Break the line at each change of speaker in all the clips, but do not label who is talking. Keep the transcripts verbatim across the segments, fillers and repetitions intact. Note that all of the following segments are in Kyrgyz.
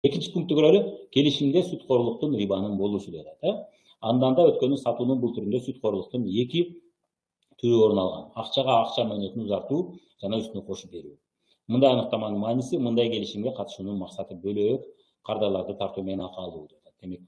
Экинчи пунктты көрөлү. Келишимде сүткорлуктун рибанын болушу деп атат. Андан да өткөнү сатуунун бул түрүндө сүткорлуктун эки түрү орун алган. Акчага акча мөөнөтүн узартуу жана үстүнө кошуп берүү. Мындай аныктаманын мааниси мындай келишимге катышуунун максаты бөлөк кардарларды тартуу менен акы алуу деп атат. Демек,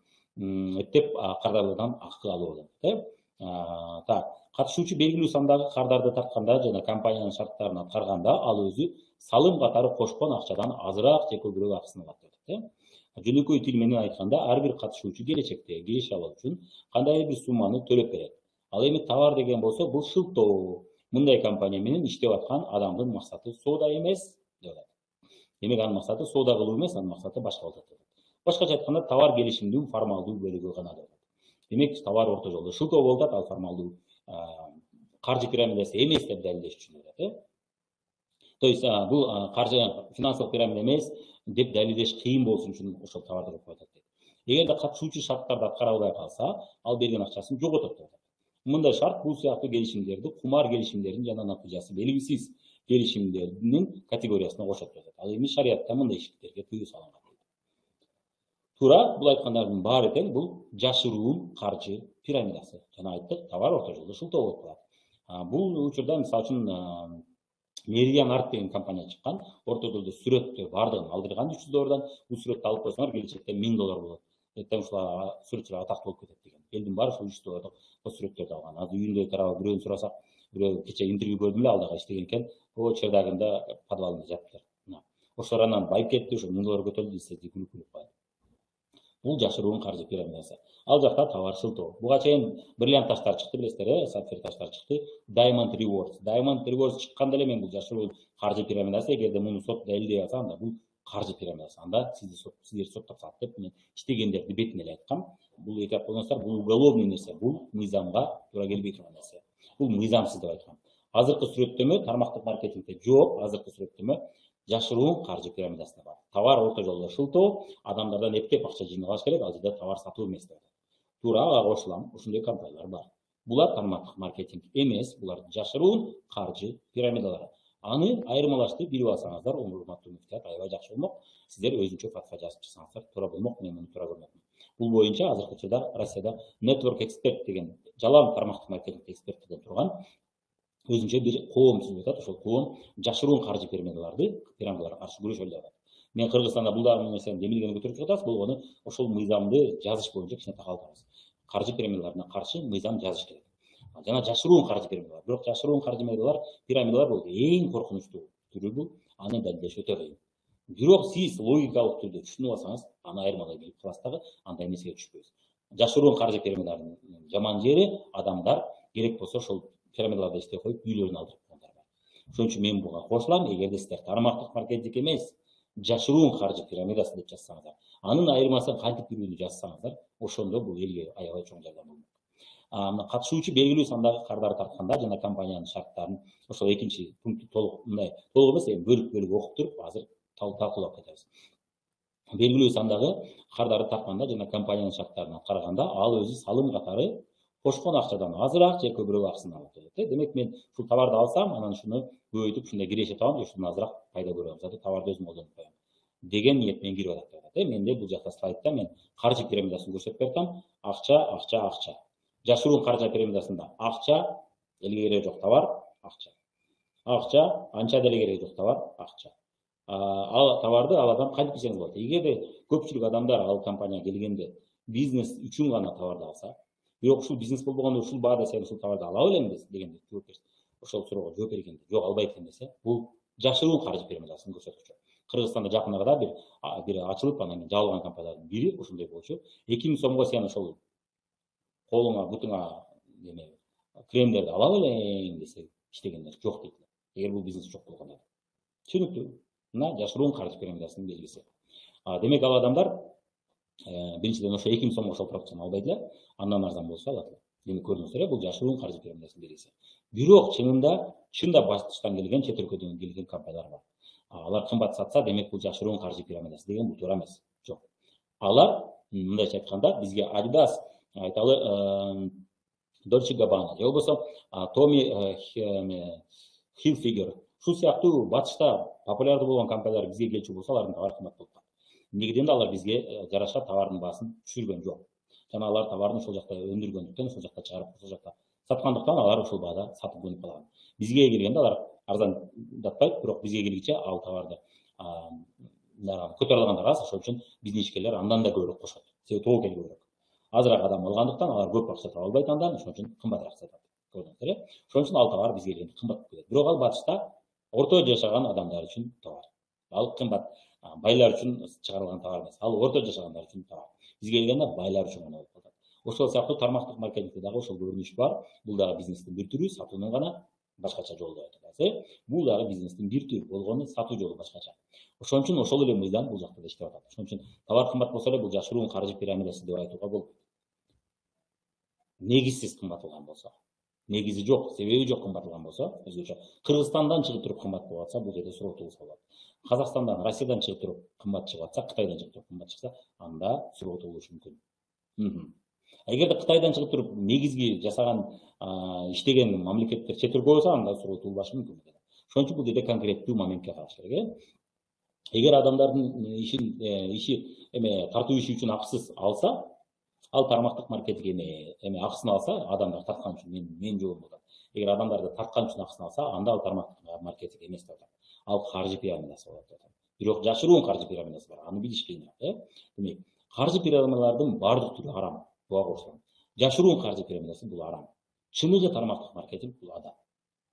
эптеп кардарлардан акы алуу деп атат. Так, катышуучу белгилүү сандагы кардарды тартканда жана компаниянын шарттарын аткарганда ал өзү салым катары кошкон акчадан азыраак же көбүрөөк акысын алат деп атат. Жөнөкөй тил менен айтканда, ар бир катышуучу келечекте киреше алуу үчүн кандайдыр бир сумманы төлөп берет. Ал эми товар деген болсо бул шылтоо. Мындай компания менен иштеп аткан адамдын максаты соода эмес деп атат. Демек, анын максаты соода кылуу эмес, анын максаты башка болот деп атат. Башкача айтканда, товар келишимдин формалдуу бөлүгү гана деп атат. Демек, товар орто жолдо шылтоо болуп атат, ал формалдуу каржы пирамидасы эмес деп далилдеш үчүн деп атат. То есть бул каржы финансылык пирамида эмес деп далилдеш кыйын болушун үчүн ошол товарды коюп атат. Эгерде катышуучу шарттарды аткара албай калса, ал берген акчасын жоготот деп атат. Мындай шарт бул сыяктуу келишимдерди кумар келишимдердин жана натыйжасы белгисиз келишимдердин категориясына кошот деп атат. Ал эми шариятта мындай иштерге тыюу салынган. Туура, бул айткандардын баары тең бул жашыруун каржы пирамидасы. Жана айттык, товар орто жолдо шылтоо болуп калат. Бул учурда мисалы үчүн Meridian Art деген компания чыккан. Орто жолдо сүрөттөр бардыгын алдырган үч жүз доллардан. Бул сүрөттү алып койсоңор келечекте миң доллар болот. Эртең ушул сүрөтчүлөр атактуу болуп кетет деген. Элдин баары ушул үч жүз доллардык сүрөттөрдү алган. Азыр үйүндө тарабы бирөөнү сурасак, бирөө кечээ интервью көрдүм эле, ал дагы иштеген экен. О, чердагында подвалында жатыптыр. Ошолор анан байып кетти, ошо миң доллар көтөрүлдү десе, күлүп күлүп калды. Бул жашыруун каржы пирамидасы. Ал жакта товар шылтоо. Буга чейин бриллиант таштар чыкты, билесиздер, э, сапфир таштар чыкты. Diamond Rewards. Diamond Rewards чыкканда эле мен бул жашыруун каржы пирамидасы, эгерде муну сот далилдей алса, анда бул каржы пирамидасы. Анда сизди сот, сиздерди соттоп салат деп мен иштегендерди бетине эле айткам. Бул эки койгонсуздар, бул уголовный нерсе, бул мыйзамга туура келбей турган нерсе. Бул мыйзамсыз деп айткам. Азыркы сүрөттөмө тармактык маркетингде жок, азыркы сүрөттөмө жашыруун каржы пирамидасында бар. Товар орто жолдо шылтоо, адамдардан эптеп акча жыйнап алыш керек, ал жерде товар сатуу эмес деп. Туура, ага кошулам, ушундай компаниялар бар. Булар тармактык маркетинг эмес, булар жашыруун каржы пирамидалары. Аны айырмалаштырып билип алсаңыздар, урматтуу муфтият, аябай жакшы болмок. Сиздер өзүнчө фатва жазып чыксаңыздар туура болмок, мен муну туура көрмөкмүн. Бул боюнча азыркы учурда Россияда Network Expert деген жалаң тармактык маркетинг эксперттерден турган өзүнчө бир коом түзүп атат. Ошол коом жашыруун каржы пирамидаларды, пирамидаларга каршы күрөшөлү деп атат. Мен Кыргызстанда бул дагы нерсени демилгени көтөрүп чыгып атабыз, болгону ошол мыйзамды жазыш боюнча кичине такалдабыз. Каржы пирамидаларына каршы мыйзам жазыш керек. Жана жашыруун каржы пирамидалар. Бирок жашыруун каржы пирамидалар, пирамидалар бул эң коркунучтуу түрү бул. Аны далилдеш өтө кыйын. Бирок сиз логикалык түрдө түшүнүп алсаңыз, аны айырмалай билип каласыз дагы, андай нерсеге түшпөйсүз. Жашыруун каржы пирамидаларынын жаман жери адамдар керек болсо ошол пирамидаларда иштей коюп үйлөрүн алдырып койгондар бар. Ошон үчүн мен буга кошулам. Эгерде сиздер тармактык маркетинг эмес, жашыруун каржы пирамидасы деп жазсаңыздар, анын айырмасын кантип бирүүнү жазсаңыздар, ошондо бул элге аябай чоң жардам болмок. Мына катышуучу белгилүү сандагы кардарды тартканда жана компаниянын шарттарын ошол экинчи пунктты толук мындай толук эмес, эми бөлүк бөлүк окуп туруп азыр талкуулап кетебиз. Белгилүү сандагы кардарды тартканда жана компаниянын шарттарын аткарганда ал өзү салым катары кошкон акчадан азыраак же көбүрөөк акысын алат деп. Демек, мен ушул товарды алсам, анан ушуну көбөйтүп ушундай киреше табам, ушундан азыраак пайда көрөм. Заты товарды өзүм колдонуп коем деген ниетмен кирип атат деп атат. Менде бул жакта слайдта мен каржы пирамидасын көрсөтүп бердим. Акча, акча, акча. Жашыруун каржы пирамидасында акча, элге кереги жок товар, акча. Акча, анча деле кереги жок товар, акча. Ал товарды ал адам кантип кийсеңиз болот. Эгерде көпчүлүк адамдар ал компанияга келгенде бизнес үчүн гана товарды алса, бирок ушул бизнес болбогондо ушул баада сен ушул товарды ала белемби дегенде жооп берсе, ошол суроого жооп бергенде жок албайт экен десе, бул жашыруун каржы пирамидасынын көрсөткүчү. Кыргызстанда жакын арада бир бир ачылып, анан жабылган компаниялардын бири ушундай болчу. эки миң сомго сен ошол колуңа, бутуңа неме кремдерди ала белең десе, иштегендер жок дейт. Эгер бул бизнес жок болгондо. Түшүнүктүү. Мына жашыруун каржы пирамидасынын белгиси. Демек, ал адамдар биринчиден ошо эки миң сомго ошол продукцияны албайт эле, андан арзан болсо алат эле. Демек, көрдүңүздөр, бул жашыруун каржы пирамидасынын белгиси. Бирок чынында чында баштан келген, чет өлкөдөн келген компаниялар бар. Алар кымбат сатса, демек бул жашыруун каржы пирамидасы деген бул туура эмес. Жок. Алар мындайча айтканда бизге Adidas, айталы Dolce Gabbana, же болбосо Tommy Hilfiger, ушул сыяктуу батышта популярдуу болгон компаниялар бизге келчү болсо, алардын товары кымбат болуп калат. негизинде алар бизге жараша товардын баасын түшүргөн жок. Жана алар товардын ошол жакта өндүргөндүктөн, ошол жакта чыгарып, ошол жакта саткандыктан алар ошол баада сатып көнүп калган. Бизге келгенде алар арзандатпайт, бирок бизге келгиче ал товарды көтөрүлгөндөр аз, ошол үчүн биздин ишкерлер андан да көбүрөөк кошот. Себеби тобокел көбүрөөк. Азыраак адам алгандыктан алар көп акча таба албайт андан, ошон үчүн кымбатыраак сатат. Көрдүңүздөр э? Ошон үчүн ал товар бизге келгенде кымбат болуп кетет. Бирок ал батышта орто жашаган адамдар үчүн товар. Ал кымбат байлар үчүн чыгарылган товар эмес. Ал орто жашагандар үчүн товар. Бизге келгенде байлар үчүн гана болуп калат. Ошол сыяктуу тармактык маркетингде дагы ошол көрүнүш бар. Бул дагы бизнестин бир түрү, сатуунун гана башкача жолу деп айтабыз. Бул дагы бизнестин бир түрү болгону, сатуу жолу башкача. Ошон үчүн ошол эле мыйзам бул жакта да иштеп атат. Ошон үчүн товар кымбат болсо эле бул жашыруун каржы пирамидасы деп айтууга болот. Негизсиз кымбатылган болсо, негизи жок, себеби жок кымбатылган болсо, өзгөчө Кыргызстандан чыгып туруп кымбат болуп атса, бул жерде суроо туулса болот. Казакстандан, Россиядан чыгып туруп кымбат чыгып атса, Кытайдан чыгып туруп кымбат чыкса, анда суроо туулушу мүмкүн. Эгерде Кытайдан чыгып туруп негизги жасаган, иштеген мамлекеттер чет өлкө болсо, анда суроо туулбашы мүмкүн. Ошон үчүн бул жерде конкреттүү моментке караш керек. Эгер адамдардын ишин иши эме тартуу иши үчүн акысыз алса, ал тармактык маркетинг эме эме акысын алса, адамдар тарткан үчүн мен мен жолум болот. Эгер адамдарды тарткан үчүн акысын алса, анда ал тармактык маркетинг эмес деп атат. Ал каржы пирамидасы болот деп атат. Бирок жашыруун каржы пирамидасы бар. Аны билиш кыйыныраак, э? Демек, каржы пирамидалардын баардык түрү арам. Буга кошулган. Жашыруун каржы пирамидасы бул арам. Чыныгы тармактык маркетинг бул адам.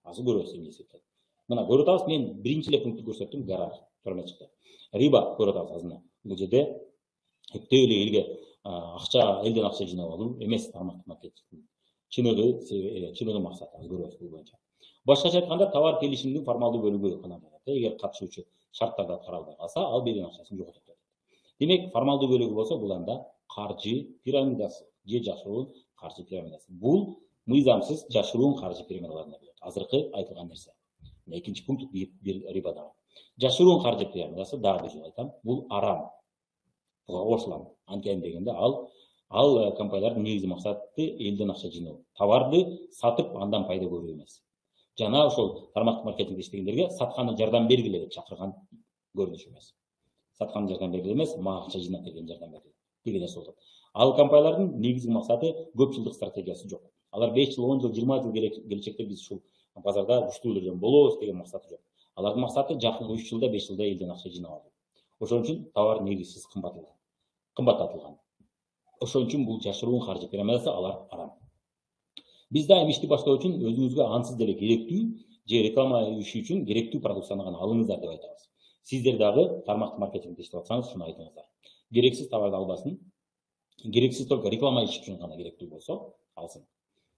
Азыр көрөбүз эмне эсептеп. Мына көрүп атабыз, мен биринчи эле пунктты көрсөттүм, гараж төрмө чыкты. Риба көрүп атабыз азына. Бул жерде эптеп эле элге акча, элден акча жыйнап алуу эмес тармактык маркетингдин чыныгы чыныгы максаты азыр көрөбүз бул боюнча. Башкача айтканда, товар келишимдин формалдуу бөлүгү гана болот. Эгер катышуучу шарттарды каралбай калса, ал берген акчасын жоготот деп. Демек, формалдуу бөлүгү болсо, бул анда каржы пирамидасы же жашыруун каржы пирамидасы. Бул мыйзамсыз жашыруун каржы пирамидаларына болот. Азыркы айтылган нерсе. Экинчи пункт бир рибада. Жашыруун каржы пирамидасы, дагы бир жолу айтам, бул арам. Буга кошулам. Анткени дегенде ал ал компаниялардын негизги максаты элден акча жыйноо. Товарды сатып, андан пайда көрүү эмес. Жана ошол тармактык маркетингде иштегендерге сатканы жардам бергиле деп чакырган көрүнүш эмес. Сатканы жардам бергиле эмес, мага акча жыйнап берген жардам бергиле деген нерсе болот. Ал компаниялардын негизги максаты көп жылдык стратегиясы жок. Алар беш жыл, он жыл, жыйырма жыл келечекте биз ушул базарда күчтүү түрдө болобуз деген максаты жок. Алардын максаты жакын үч жылда, беш жылда элден акча жыйнап алуу. Ошон үчүн товар негизсиз кымбатылган. Кымбаттатылган. Ошон үчүн бул жашыруун каржы пирамидасы, алар арам. Биз дайым ишти баштоо үчүн өзүңүзгө ансыз деле керектүү же реклама иши үчүн керектүү продукцияны гана алыңыздар деп айтабыз. Сиздер дагы тармактык маркетингде иштеп атсаңыз, шуну айтыңыздар. Керексиз товарды албасын. Керексиз только реклама иш үчүн гана керектүү болсо, алсын.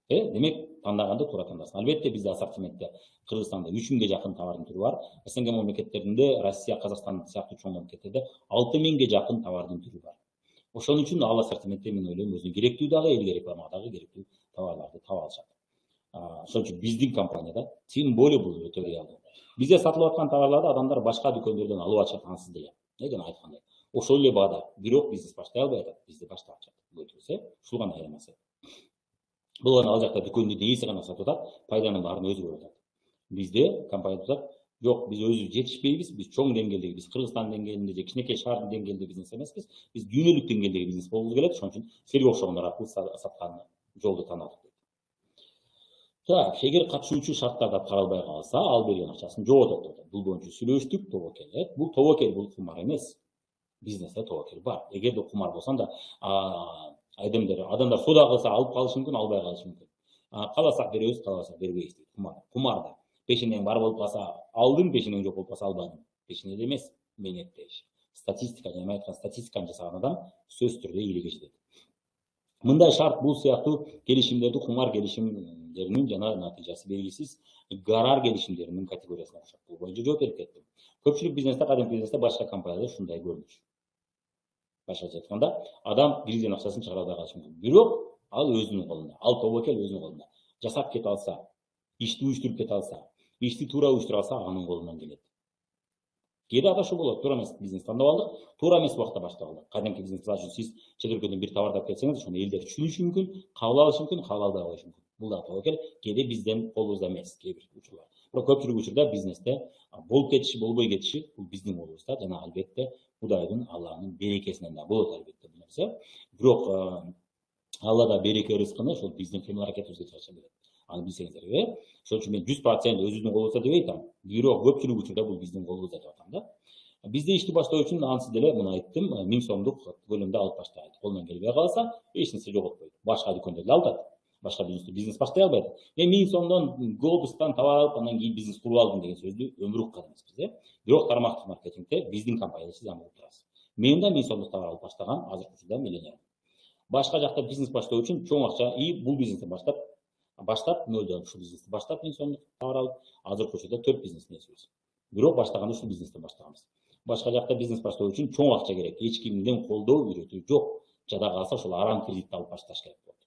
Э, демек, тандаганда туура тандасын. Албетте бизде ассортиментте Кыргызстанда үч миңге жакын товардын түрү бар. СНГ мамлекеттеринде, Россия, Казакстан сыяктуу чоң мамлекеттерде алты миңге жакын товардын түрү бар. Ошон үчүн ал ассортиментте мен ойлойм, өзүнө керектүү дагы, элге рекламага дагы керектүү товарларды таба алышат. Ошон үчүн биздин компанияда тем более бул өтө реалдуу. Бизде сатылып аткан товарларды адамдар башка дүкөндөрдөн алып атышат ансыз деле. Э, жана айткандай. Ошол эле баада, бирок бизнес баштай албай атат. Бизде баштап атышат. Өтүрсө, ушул гана айырмасы. Бул гана ал жакта дүкөндүн ээси гана сатып атат, пайданын баарын өзү көрүп атат. Бизде компания атат, жок, биз өзүбүз жетишпейбиз, биз чоң деңгээлдеги, биз Кыргызстан деңгээлинде же кичинекей шаардын деңгээлинде бизнес эмеспиз, биз дүйнөлүк деңгээлдеги бизнес болгубуз келет, ошон үчүн силерге окшогондор аркылуу саткан жолду тандадык. Так, эгер катышуучу шарттарды каралбай калса, ал берген акчасын жоготот деп атат. Бул боюнча сүйлөштүк, тобокел. Бул тобокел, бул кумар эмес. Бизнесте тобокел бар. Эгерде кумар болсо анда адамдар адамдар соода кылса алып калышы мүмкүн, албай калышы мүмкүн. Кааласак беребиз, кааласак бербейбиз дейт. Кумар. Кумарда пешенең бар болуп калса алдым, пешенең жок болуп калса албадым. Пешенеде эмес, менетте иш. Статистика, жана айткан статистиканы жасаган адам сөзсүз түрдө ийгиликке жетет. Мындай шарт, бул сыяктуу келишимдерди кумар келишимдеринин жана натыйжасы белгисиз гарар келишимдеринин категориясына окшойт. Бул боюнча жооп берип кеттим. Көпчүлүк бизнесте, кадимки бизнесте башка компанияларда ушундай көрүнүш. Башкача айтканда, адам бирден акчасын чыгара албай калышы мүмкүн. Бирок ал өзүнүн колунда. Ал тобокел өзүнүн колунда. Жасап кете алса, ишти уюштуруп кете алса, ишти туура уюштура алса, анын колунан келет. Кээде адашуу болот, туура эмес бизнес тандап алдык, туура эмес убакта баштап алдык. Кадимки бизнес үчүн сиз чет өлкөдөн бир товарды алып келсеңиз, ошону элдер түшүнүшү мүмкүн, кабыл алышы мүмкүн, кабыл албай коюшу мүмкүн. Бул да тобокел, кээде бизден колубузда эмес, кээ бир учурлар. Бирок көпчүлүк учурда бизнесте болуп кетиши, болбой кетиши бул биздин колубузда, жана албетте Кудайдын, Алланын берекесинен да болот албетте бул нерсе. Бирок Алла да береке рызкыны ошол биздин кыймыл аракетибизге жараша берет. Аны билсеңиздер, э? Ошон үчүн мен жүз процент өзүбүздүн колубузда деп айтам. Бирок көпчүлүк учурда бул биздин колубузда деп атам да. Бизде ишти баштоо үчүн ансыз деле муну айттым, миң сомдук көлөмдө алып баштайт. Колунан келбей калса, эч нерсе жоготпойт. Башка дүкөндөрдө алдат. Башка бизнес бизнес баштай албайт. Мен миң сомдон глобустан таба алып, андан кийин бизнес куруп алдым деген сөздү өмүр уккан эмеспиз, э? Бирок тармактык маркетингде биздин компанияда сиз аны угуп турасыз. Мен да миң сомдук товар алып баштагам, азыркы учурда миллионер. Башка жакта бизнес баштоо үчүн чоң акча и бул бизнести баштап баштап нөлдөн ушул бизнести баштап миң сомдук товар алып, азыркы учурда төрт бизнес несибиз. Бирок баштаганда ушул бизнестен баштаганбыз. Башка жакта бизнес баштоо үчүн чоң акча керек. Эч кимден колдоо, үйрөтүү жок. Жада калса ошол арам кредитти алып башташ керек болот.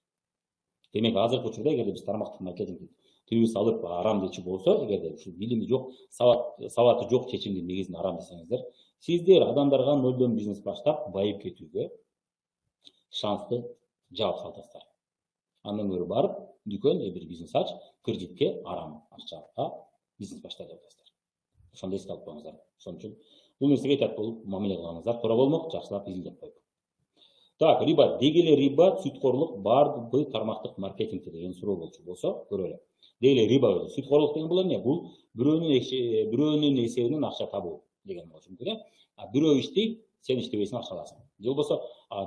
Демек азыркы учурда эгерде биз тармактык маркетингди түйүбүз алып арам дечи болсо, эгерде ушул билими жок, сабат сабаты жок чечимдин негизинде арам десеңиздер, сиздер адамдарга нөлдөн бизнес баштап байып кетүүгө шансты жаап саласыздар. Андан көрө барып, дүкөн же бир бизнес ач, кредитке арам акчага бизнес баштай деп атасыздар. Ошондо эске алып коюңуздар. Ошон үчүн бул нерсеге айтат болуп мамиле кылгансыздар, туура болмок, жакшылап изилдеп коюп. Так, риба, дегеле риба, сүткорлук бардыбы тармактык маркетингде деген суроо болчу болсо, көрөлү. Дегеле риба, сүткорлук деген бул эмне? Бул бирөөнүн бирөөнүн эсебинен акча табуу деген болчу мүмкүн, э? Бирөө иштейт, сен иштебейсиң, акча аласың. Же болбосо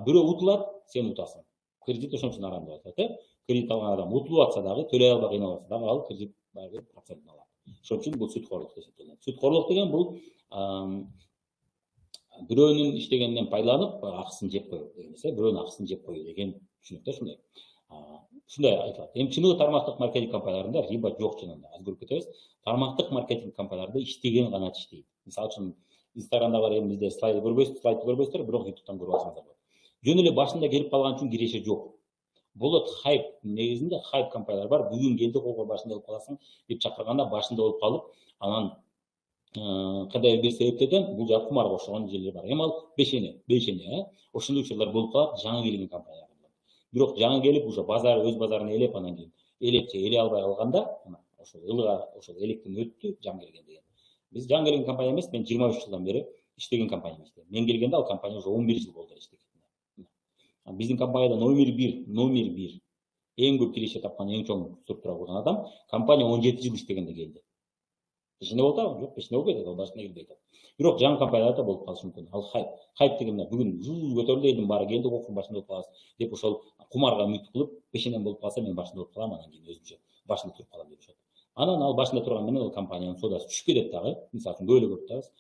бирөө утулат, сен утасың. Кредит ошон үчүн арам деп атат, э? Кредит алган адам утулуп атса дагы, төлөй албай кыйналып атса дагы, ал кредит барыбир процентин алат. Ошон үчүн бул сүткорлук деп эсептелет. Сүткорлук деген бул бирөөнүн иштегенинен пайдаланып, акысын жеп коюу деген нерсе, бирөөнүн акысын жеп коюу деген түшүнүктө ушундай. Ушундай айтылат. Эми чыныгы тармактык маркетинг компанияларында риба жок чынында. Аз көрүп кетебиз. Тармактык маркетинг компанияларында иштеген гана иштейт. Мисалы үчүн Инстаграмда бар эми бизде слайд көрбөйсүз, слайд көрбөйсүздөр, бирок ютубтан көрүп алсаңыздар болот. Жөн эле башында келип калган үчүн киреше жок. Болот хайп негизинде хайп компаниялар бар. Бүгүн келди, кого башында болуп каласың деп чакырганда башында болуп калып, анан кандай бир себептерден бул жак кумарга окшогон жерлер бар. Эми ал бешене, бешене, э? Ошондой учурлар болуп калат жаңы келген компаниялар. Бирок жаңы келип уже базар өз базарын ээлеп, анан кийин ээлеп же ээлей албай калганда, ошол ылга, ошол электен өттү, жаңы келген деген. Биз жаңы келген компания эмес, мен жыйырма үч жылдан бери иштеген компания эмес. Мен келгенде ал компания уже он бир жыл болду иштеген. Биздин компанияда номер бир, номер бир эң көп киреше тапкан, эң чоң структура курган адам компания он жети жыл иштегенде келди. Пешине болуп атабы? Жок, пешине болуп кетет, ал башына келбей атат. Бирок жаңы компанияларда болуп калышы мүмкүн. Ал хайп. Хайп деген бүгүн жул көтөрүлдү, элдин баары келди, окуп башында болуп каласыз деп ошол кумарга үмүт кылып, пешенем болуп калса мен башында болуп калам, анан кийин өзүмчө башында туруп калам деп ошот. Анан ал башында турган менен ал компаниянын содасы түшүп кетет дагы. Мисалы үчүн көп эле көрүп атабыз.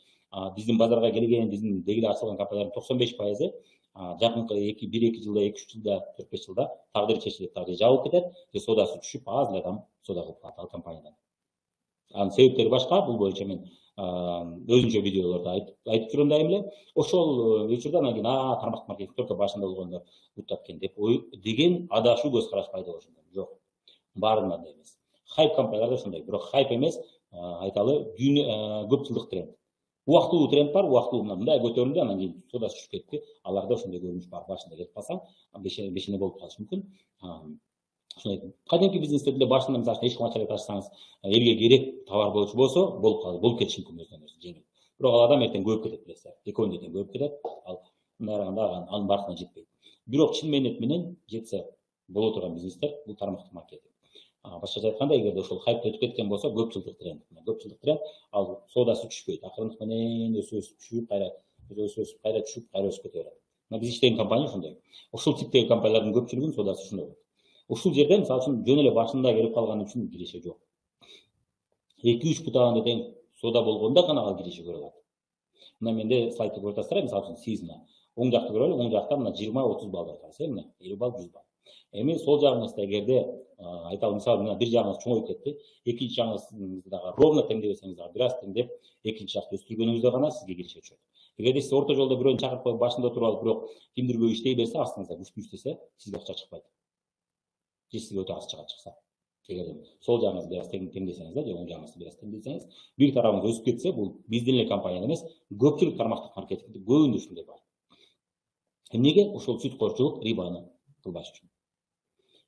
Биздин базарга келген, биздин дегеле ачылган компаниялардын токсон беш пайызы жакынкы бир эки жылда, эки үч жылда, төрт беш жылда тагдыры чечилип дагы жабылып кетет, же содасы түшүп, аз эле адам сода кылып калат ал компаниядан. Анын себептери башка, бул боюнча мен өзүнчө видеолордо айтып жүрөм дайым эле. Ошол учурда анан кийин а тармактык маркетинг только башында болгондор утат экен деп деген адашуу көз караш пайда болушу мүмкүн. Жок. Баарында андай эмес. Хайп компанияларда ошондой, бирок хайп эмес, айталы, көп жылдык тренд. Убактылуу тренд бар, убактылуу мындай көтөрүлдү, анан кийин содасы түшүп кетти. Аларда ошондой көрүнүш бар. Башында келип калсаң, бешене бешене болуп калышы мүмкүн. Ошондой кадимки бизнестерде башында мисалы эч кандай чарек ачсаңыз, элге керек товар болчу болсо, болуп калды, болуп кетиши мүмкүн өзүнөн өзү жеңил. Бирок ал адам эртең көбөйүп кетет, билесиздер. экөө эртең көбөйүп кетет. Ал мындай караганда анын баркына жетпейт. Бирок чын мээнет менен жетсе боло турган бизнестер бул тармактык маркетинг. Башкача айтканда, эгерде ошол хайп өтүп кеткен болсо, көп жылдык тренд. Көп жылдык тренд, ал содасы түшпөйт. Акырындык менен өсүп өсүп түшүп, кайра өсүп өсүп, кайра түшүп, кайра өсүп кете берет. Мына биз иштеген компания ошондой. Ушул типтеги компаниялардын көпчүлүгүнүн содасы ушундай болот. Ушул жерде мисалы үчүн жөн эле башында келип калган үчүн киреше жок. эки үч бутагында тең сода болгондо гана ал киреше көрө алат. Мына менде слайдты көрүп атасыздар, мисалы үчүн сиз мына оң жакты көрөлү, оң жакта мына жыйырма отуз балл атабыз, мына элүү балл, жүз балл. Эми сол жагыңызда эгерде айталы мисалы мына бир жагыңыз чоңоюп кетти, экинчи жагыңызды дагы ровно теңдебесеңиз дагы бир аз теңдеп, экинчи жакты өстүргөнүңүздө гана сизге киреше түшөт. Эгерде сиз орто жолдо бирөөнү чакырып коюп башында туруп алып, бирок кимдирбөө иштей берсе, астыңызда күчтүү иштесе, сизге акча чыкпайт. Же сизге өтө аз чыгат чыкса. Эгерде сол жагыңызды бир аз теңдесеңиз да, же оң жагыңызды бир аз теңдесеңиз, бир тарабыңыз өсүп кетсе, бул биздин эле компания эмес, көпчүлүк тармактык маркетингде көбүндө ушундай бар. Эмнеге? Ошол сүткорчулук рибаны кылбаш үчүн.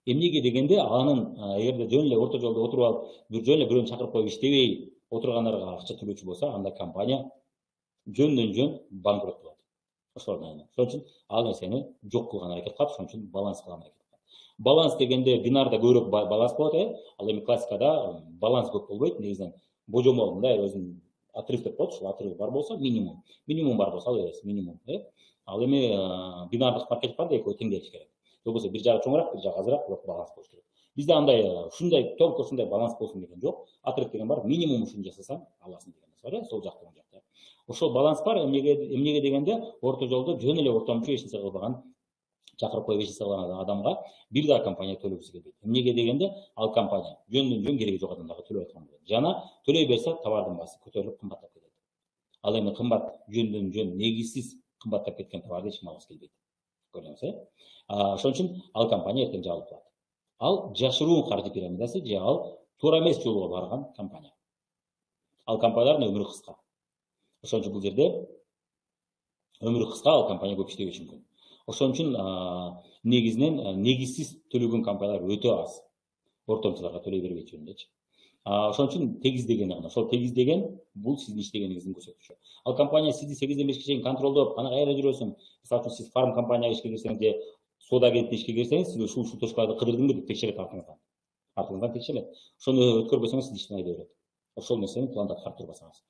Эмнеге дегенде, анын эгерде жөн эле орто жолдо отуруп алып, бир жөн эле бирөөнү чакырып коюп иштебей отургандарга акча төлөөчү болсо, анда компания жөндөн жөн банкрот болот. ошолордун айынан. Ошон үчүн ал нерсени жок кылган аракет кылат, ошон үчүн баланс кылган аракет кылат. Баланс дегенде бинарда көбүрөөк баланс болот, э. Ал эми классикада баланс көп болбойт, негизинен божомол мындай өзүнүн отрыв деп коет, ушул отрыв бар болсо минимум, минимум бар болсо ал беребиз, минимум, э. Ал эми бинардык маркетингде экөө тең келиш керек. Болбосо бир жагы чоңураак, бир жагы азыраак, бирок баланс болуш керек. Бизде андай ушундай толук ушундай баланс болсун деген жок. Отрыв деген бар, минимум ушуну жасасаң аласың деген нерсе бар, э. Сол жакта, оң жакта. Ошол баланс бар, эмнеге эмнеге дегенде орто жолдо жөн эле ортомчу эч нерсе кылбаган, чакырып коюп эч нерсе кылган адамга бир да компания төлөгүсү келбейт. Эмнеге дегенде ал компания жөндөн жөн кереги жок адамдарга төлөп аткан болот. Жана төлөй берсе товардын баасы көтөрүлүп кымбаттап кетет. Ал эми кымбат жөндөн жөн негизсиз кымбаттап кеткен товарды эч ким алгысы келбейт. Көрдүңүз, э? Ошон үчүн ал компания эртең жабылып калат. Ал жашыруун каржы пирамидасы же ал туура эмес жолго барган компания. Ал компаниялардын өмүрү кыска. Ошон үчүн бул жерде өмүрү кыска, ал компания көп иштебеши мүмкүн. Ошон үчүн негизинен негизсиз төлөгөн компаниялар өтө аз. Ортомчуларга төлөй бербейт жөнүндөчү. Ошон үчүн тегиз деген гана. Ошол тегиз деген бул сиздин иштегениңиздин көрсөтүчү. Ал компания сизди сегизден бешке чейин контролдоп, кана кайда жүрөсүң? Мисалы үчүн сиз фарм компанияга ишке кирсеңиз же соода агенттигине ишке кирсеңиз, сиз ушул ушул точкаларды кыдырдыңбы деп текшерет артыңыздан. Артыңыздан текшерет. Ошону өткөрбөсөңүз сиз иштен айдап берет. Ошол нерсени планда аткарып турбасаңыз.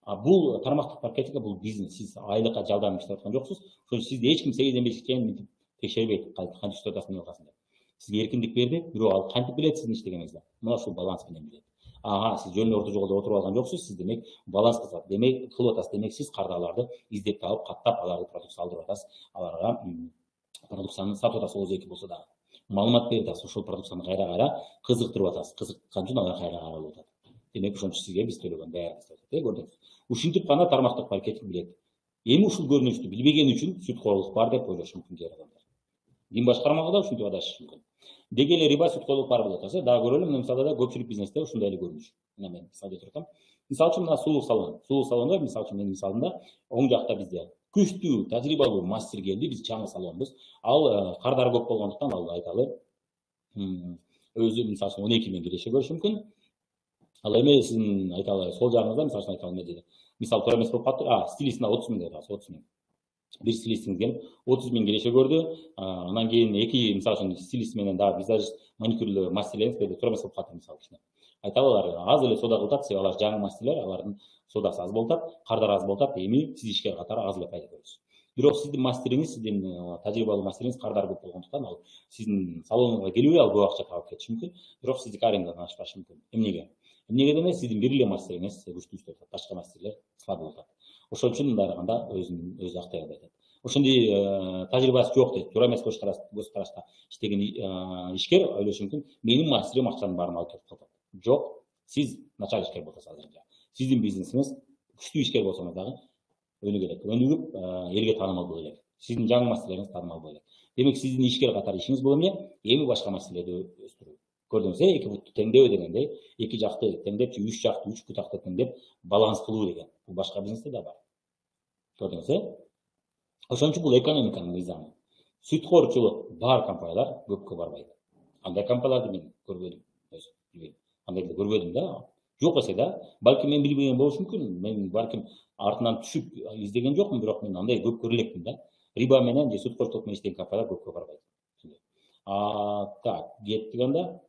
А бул тармактык маркетинг, бул бизнес. Сиз айлыкка жалдам иштеп аткан жоксуз. Ошон үчүн сизди эч ким сегизден бешке чейин мынтип текшербейт. Кантип иштеп атасың, эмне кыласың деп. Сизге эркиндик берди, бирок ал кантип билет сиздин иштегениңизди? Мына ушул баланс менен билет. Ага, сиз жөн орто жолдо отуруп алган жоксуз, сиз демек баланс кылып, демек кылып атасыз, демек сиз кардаларды издеп таап, каттап, аларды продукция алдырып атасыз, аларга продукцияны сатып атасыз, оозу эки болсо дагы. Маалымат берип атасыз, ошол продукцияны кайра-кайра кызыктырып атасыз, кызыккан үчүн алар кайра каралып атат. Демек ошон үчүн сизге биз төлөгөн баары деп атат, э, көрдүңүз. Ушинтип гана тармактык маркетинг билет. Эми ушул көрүнүштү билбеген үчүн сүткорлук бар деп ойлошу мүмкүн кээ адамдар. Дин башкармага да ушинтип адашышы мүмкүн. Деги эле риба сүткорлук бар болуп атат, дагы көрөлү, мына мисалда да көпчүлүк бизнесте ушундай эле көрүнүш. Мына мен мисал келтирип атам. Мисалы үчүн мына сулуу салон. Сулуу салондо мисалы үчүн менин мисалымда оң жакта бизде күчтүү, тажрыйбалуу мастер келди, биз чаңы салонбуз. Ал кардары көп болгондуктан ал айталы өзү мисалы үчүн он эки миң киреше көрүшү мүмкүн. Ал эми сиздин айталы сол жагыңызда мисалы үчүн айталы эмне мисал туура эмес болуп калыптыр. А, стилистине отуз миң деп атабыз, отуз миң. Бир стилистиңиз келип отуз миң киреше көрдү. Анан кийин эки мисалы үчүн стилист менен дагы визажист, маникюрлөө мастерлериңиз берди, туура эмес болуп калыптыр мисалы үчүн. Айталы алар аз эле соода кылып атат, себеби алар жаңы мастерлер, алардын соодасы аз болуп атат, кардары аз болуп атат. Эми сиз ишкер катары аз эле пайда көрөсүз. Бирок сиздин мастериңиз, сиздин тажрыйбалуу мастериңиз кардары көп болгондуктан ал сиздин салонуңузга келбей ал көп акча таап кетиши мүмкүн. Бирок сиздики арендадан ашпашы мүмкүн. Эмнеге? Эмнеге демек сиздин бир эле мастериңиз күчтүү иштеп атат, башка мастерлер слабый болуп атат. Ошон үчүн мындай кылганда өзүн өзү актай албай атат. Ошондой тажрыйбасы жок дейт, туура эмес көз карашта иштеген ишкер ойлошу мүмкүн, менин мастерим акчанын баарын алып кетип калат. Жок, сиз начар ишкер болосуз азырынча. Сиздин бизнесиңиз күчтүү ишкер болсоңуз дагы өнүгүп, өнүгүп элге таанымал боло элек. Сиздин жаңы мастерлериңиз таанымал боло элек. Демек сиздин ишкер катары ишиңиз бул эмне? Эми башка мастерлерди өстүрүү. Көрдүңүз, эки бутты теңдөө дегенде, эки жакты теңдеп, үч жакты, үч бутакты теңдеп баланс кылуу деген. Бул башка бизнесте да бар. Көрдүңүз, э? Ошон үчүн бул экономиканын мыйзамы. Сүткорчулук бар компаниялар көпкө барбайт. Андай компанияларды мен көрбөдүм, өз билбейм. Андайды көрбөдүм да. Жок эсе да, балким мен билбеген болушу мүмкүн. Мен балким артынан түшүп издеген жокмун, бирок мен андай көп көрө элекмин да. Риба менен же сүткорчулук менен иштеген компаниялар көпкө барбайт. А, так, кеттик анда.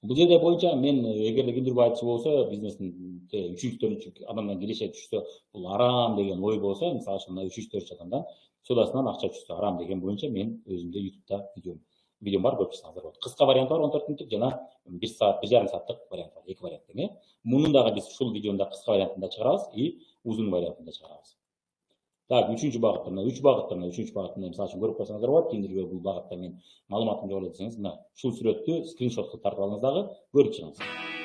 Бул жерде боюнча мен эгерде кимдир айтчу болсо, бизнестин үчүнчү төртүнчү адамдан киреше түшсө, бул арам деген ой болсо, мисалы үчүн мына үчүнчү төртүнчү адамдан соодасынан акча түшсө арам деген боюнча мен өзүмдө ютубта видеом видеом бар, көрүп чыксаңыздар болот. Кыска варианты бар он төрт мүнөттүк жана бир саат, бир жарым сааттык вариант бар, эки вариант тең. Мунун дагы биз ушул видеону кыска вариантында чыгарабыз и узун вариантында чыгарабыз. Так, үчүнчү багытта, мына үч багытта, мына үчүнчү багытында мисалы үчүн көрүп койсоңуздар болот. Кимдирге бул багытта мен маалыматым жок эле десеңиз, мына ушул сүрөттү скриншот кылып тартып алыңыз дагы көрүп чыгыңыз.